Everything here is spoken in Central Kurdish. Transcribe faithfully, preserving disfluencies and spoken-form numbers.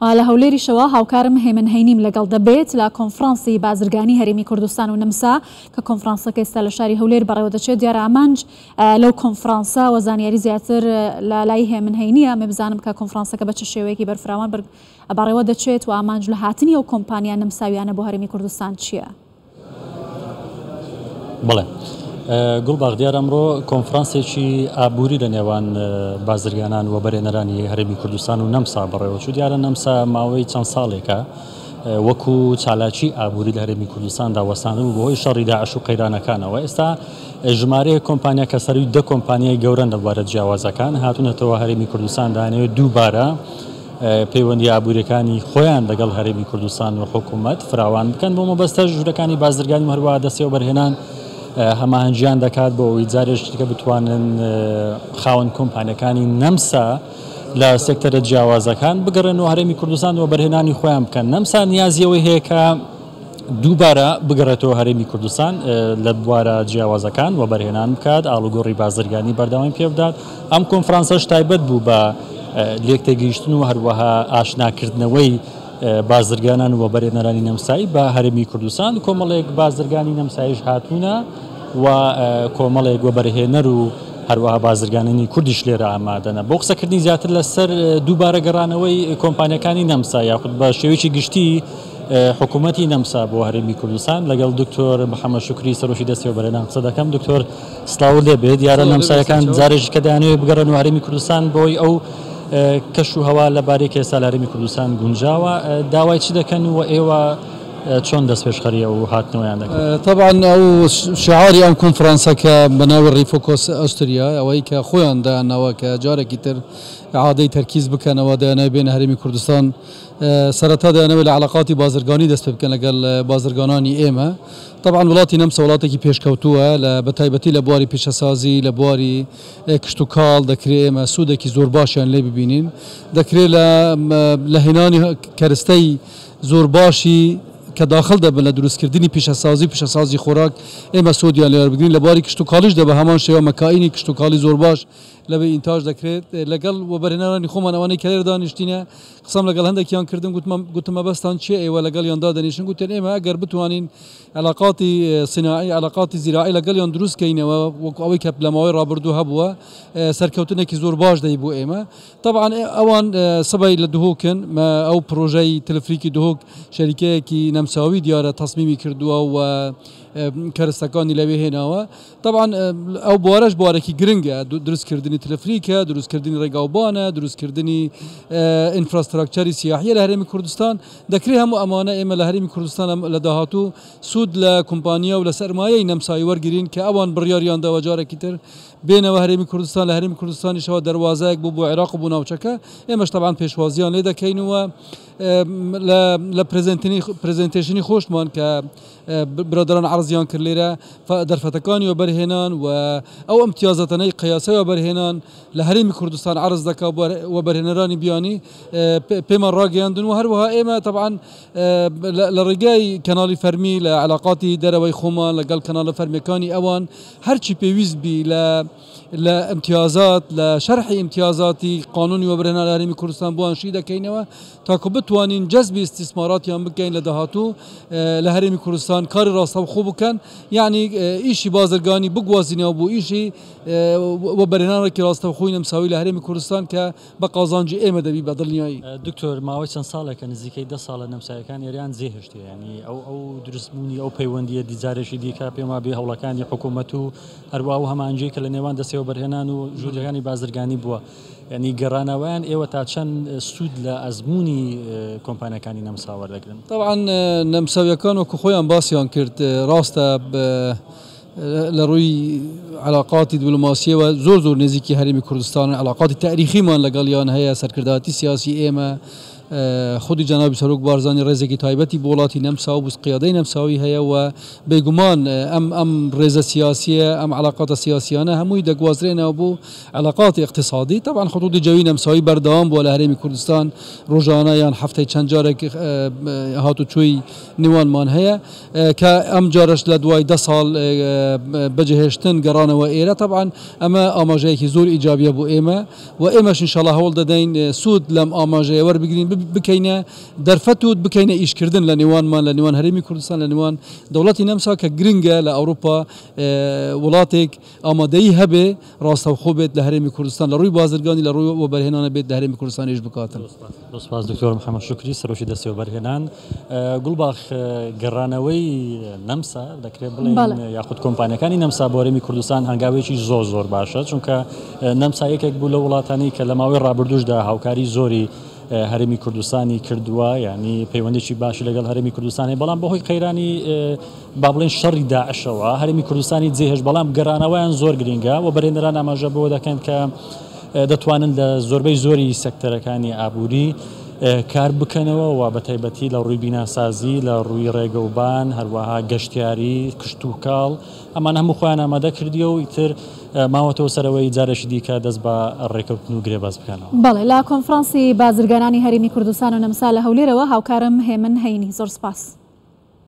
لە هەولێریشەوە هاوکارم هێمن هەینیم لەگەڵ دەبێت لە کۆنفرانسی بازرگانی هەرێمی کوردستان و نەمسا کە کۆنفرانسەکە ئێستا لە شاری هەولێر بەڕێوە دەچێت. دیارە ئامانج لەو کۆنفرانسە و زانیاری زیاتر لە لای هێمن هەینیە. مێ بزانم کە کۆنفرانسەکە بە چ شێوەیەکی بەرفراوان بەڕێوە دەچێت و ئامانج لە هاتنی ئەو کۆمپانیا نەمساویانە بۆ هەرێمی کوردستان چییە؟ بەڵێ گوڵباغ، دیار ئەمڕۆ کۆنفرانسێکی ئابووری لە نێوان بازرگانان و بەرێنەرانی هەرێمی کوردستان و نەمسا بەڕێوەچوو. دیارە نەمسا ماوەی چەند ساڵێکە وەکو چالاکی ئابووری لە هەرێمی کوردستاندا وەستاندبوو بەهۆی شەڕی داعش و قەیرانەکانەوە. ئێستا ژمارەیەک کۆمپانیا کە سەروی دە کۆمپانیای گەورەن لە بوارە جیاوازەکان هاتوونەتەوە هەرێمی کوردستان دانەوێت دووبارە پەیوەندی ئابووریەکانی خۆیان لەگەڵ هەرێمی کوردستان و حکوومەت فراوان بکەن. بۆ مەبەستە ژوورەکانی بازرگانی و هەروەها دەستەوە بەرهێنان هەماهەنگیان دەکات بۆ ئەوەی جارێکی دیکە بتوانن خاوەن کۆمپانیەکانی نەمسا لە سێکتەرە جیاوازەکان بگەڕێن و هەرێمی کوردستان و بەرهێنانی خۆیان بکەن. نەمسا نیازیەوەی هەیە کە دووبارە بگەڕێتەوە هەرێمی کوردستان لە بوارە جیاوازەکان و بەرهێنان بکات، ئاڵوگۆڕی بازرگانی بەردەوامی پێ بدات. ئەم کۆنفرانسەش تایبەت بوو بە لێکتێگەیشتن و هەروەها ئاشناکردنەوەی بازرگانان و بەرهێنەرانی نەمسایی بە هەرێمی کوردستان. کۆمەڵێک بازرگانی نەمساییش هاتوونە و کۆمەڵێک وەبەرهێنەر و هەروەها بازرگانانی کوردیش لێرە ئامادەنە. بۆ قسەکردنی زیاتر لەسەر دووبارە گەڕانەوەی کۆمپانیەکانی نەمسا یاخود بە شێوەیەکی گشتی حکوومەتی نەمسا بۆ هەرێمی کوردستان لەگەڵ دکتۆر محەممەد شوکری سەرۆکی دەستەوە بەرهێنان قسە دەکەم. دکتۆر سڵاو لێ بێت. دیارە نەمسایەکان جارێکی کە دەیانەوێت بگەڕێن و هەرێمی کوردستان بۆی ئەو کەش و هەوا لەبارەی کە ئێستا لە هەرێمی کوردستان گونجاوە، داوای چی دەکەن و ئێوە چۆن دەستپێشخەری ئەو هاتنەوەیان دەکەن؟ طبعا ئەو شعاری ئەم کۆنفرانسەکە بە ناوی Refocus Austria، ئەوەی کە خۆیان دایانناوە کە جارێکی تر عادەی تەرکیز بکەنەوە دەیانەوێت بێنە هەرێمی کوردستان. سەرەتا دەیانەوێت لە علاقاتی بازرگانی دەست پێ بکەن لەگەڵ بازرگانانی ئێمە. طبعا وڵاتی نەمسا وڵاتێکی پێشکەوتووە بە تایبەتی لە بواری پیشەسازی، لە بواری کشتوکاڵ دەکرێت ئێمە سوودێکی زۆر باشیان لێ ببینین. دەکرێت لە هێنانی کەرستەی زۆر باشی کە داخل دەبن لە دروستکردنی پیشەسازی پیشەسازی خۆراک ئێمە سوودیان لێ وەربگرین. لە بواری کشتوکاڵیش دەبە هەمان شێوە مەکائینی کشتوکاڵی زۆر باش لەبێ ئینتاج دەکرێت. لەگەڵ وەبەرهێنەرانی خۆمان ئەوانەی کە لێرە دانیشتینە قسەم لەگەڵ هەندێکیان کردم، گوتم مەبەستان چییە ئێوە لەگەڵیان دادەنیشن؟ گوتیان ئێمە ئەگەر بتوانین علاقاتی صناعی علاقاتی زیراعی لەگەڵیان دروست کەینەوە وەکو ئەوەی کە لە ماوەی ڕابردوو هەبووە سەرکەوتنێکی زۆر باش دەی بۆ ئێمە. طبعا ئەوان سبەی لە دهۆکن، ئەو پرۆژەی تەلەفریکی دهۆک شەریکەیەکی نەمساوی دیارە تەسمیمی کردووە و کەرستەکانی لەوێ هێناوە. طبعا ئەو بوارەش بوارێکی گرنگە، دروستکردنی تەلەفریکە، دروستکردنی ڕێگاوبانە، دروستکردنی ئینفراستراکچەری سیاحیە لە هەرێمی کوردستان. دەکرێت هەموو ئەمانە ئێمە لە هەرێمی کوردستان لە داهاتوو سوود لە کۆمپانیا و لە سەرمایەی نەمسایی وەرگرین کە ئەوان بڕیاریان داوە جارێکی تر بێنەوە هەرێمی کوردستان. لە هەرێمی کوردستانیشەوە دەروازەیەک بوو بۆ عێراق و بۆ ناوچەکە. ئێمەش طبعا پێشوازیان لێ دەکەین و لە presentation ی خۆشمان کە برادران عرضیان کرد لێرە دەرفەتەکانی وەبەرهێنان و ئەو ئەمتیازاتانەی قیاسەی وەبەرهێنان لە هەرێمی کوردستان عرض دەکا وەبەرهێنەرانی بیانی پێمان ڕاگەیاندن. و هەروەها ئێمە طبعا لە ڕێگای کەناڵی فەرمی لە علاقاتی دەرەوەی خۆمان لەگەڵ کەناڵە فەرمیەکانی ئەوان هەرچی پێویست بی لە لە ئەمتیازات لە شەرحی ئەمتیازاتی قانونی وەبەرهێنان لە هەرێمی کوردستان بۆیان شی دەکەینەوە تاکو بتوانین جەزبی ئیستیسماراتیان بکەین لە داهاتوو لە هەرێمی کوردستان کاری ڕاستەوخۆ بکەن، یعنی ئیشی بازرگانی بگوازینەوە بۆ ئیشی وەبەرهێنانێکی ڕاستەوخۆی نەمساوی لە هەرێمی کوردستان کە بە قازانجی ئێمە دەبی بە دڵنیایی. دکتۆر ماوەی چەند ساڵێکە نزیکەی دە ساڵە نەمسایەکان ئێران جێهێشتیە، یعنی ئەو ئەو دروستبوونی ئەو پەیوەندیە دیجارێکی دیکە پێم وابێ هەوڵەکانی حکوومەت و هەروەها ئەو هەماهەنگیەی کە لە نێوان دەستەوە بەرهێنان و ژوورەکانی بازرگانی بووە، یعنی گەڕانەوەیان ئێوە تا چەند سوود لە ئەزمموی کۆمپانیەکانی نەمسا وەردەگرن؟ طبعا نەمساویەکان وەکو خۆیان باسیان کرد ڕاستە لە ڕووی علاقاتی دیبلۆماسیەوە زۆر زۆر نزیکی هەرێمی کوردستان، علاقاتی تاریخیمان لەگەڵیان هەیە، سەرکردایەتی سیاسی ئێمە خودی جەنابی سەرۆک بارزانی ڕێزێکی تایبەتی بۆ وڵاتی نەمسا و قیادەی نەمساوی هەیە و بێگومان ئەم ئەم ڕێزە سیاسیە ئەم علاقاتە سیاسیانە هەمووی دەگوازرێنەوە بۆ علاقاتی اقتصادی. طبعا خطوطی جەوی نەمساوی بەردەوام بووە لە هەرێمی کوردستان، ڕۆژانە یان هەفتەی چەند جارێک هاتوچۆی نێوانمان هەیە کە ئەم جارش لە دوای دە ساڵ بەجێهێشتن گەڕانەوە ئێرە. طبعا ئەمە ئاماژەیەکی زۆر ئیجابیە بۆ ئێمە و ئێمەش ئینشاڵڵا هەوڵ دەدەین سوود لەم ئاماژەیە وەربگرین، بکەینە دەرفەت و بکەینە ئیشکردن لە نێوانمان لە نێوان هەرێمی کوردستان لە نێوان دەوڵەتی نەمسا کە گرنگە لە ئەوروپا وڵاتێک ئامادەیی هەبێ ڕاستەوخۆ بێت لە هەرێمی کوردستان لە ڕووی بازرگانی لە ڕووی وەبەرهێنانە بێت لە هەرێمی کوردستانیش بکاتن. سپاس دکتۆر محەممەد شوکری سەرۆکی دەستی وەبەرهێنان. گوڵباخ گەڕانەوەی نەمسا دەکرێت بڵێن یاخود کۆمپانیەکانی نەمسا بۆ هەرێمی کوردستان هەنگاوێکی زۆر زۆر باشە، چونکە نەمسا یەکێک بوو لە وڵاتانی کە لە ماوەی ڕابردووشدا هاوکاری زۆری هەرێمی کوردستانی کردووە، یعنی پەیوەندێکی باشی لەگەڵ هەرێمی کوردستانی، بەڵام بەهۆی قەیرانی با بڵێن شەڕی داعشەوە هەرێمی کوردستانی جێهێشت، بەڵام گەڕانەوەیان زۆر گرنگە و بەرێنەران ئاماژە بەوە دەکەن کە دەتوانن لە زۆربەی زۆری سێکتەرەکانی ئابووری کار بکەنەوە و بە تایبەتی لە ڕووی بیناسازی، لە ڕووی ڕێگەوبان، هەروەها گەشتیاری، کشتوکاڵ، ئەمان هەموو خۆیان ئامادە کردیەوە و ئیتر ماوەتەوە سەرەوەی جارێکی دیکە دەست بە ڕێکەوتن و گرێبەست بکەنەوە. بەڵێ لە کۆنفرانسی بازرگانانی هەرێمی کوردستان و نەمسا لە هەولێرەوە هاوکارم هێمن هەینی. زۆر سپاس.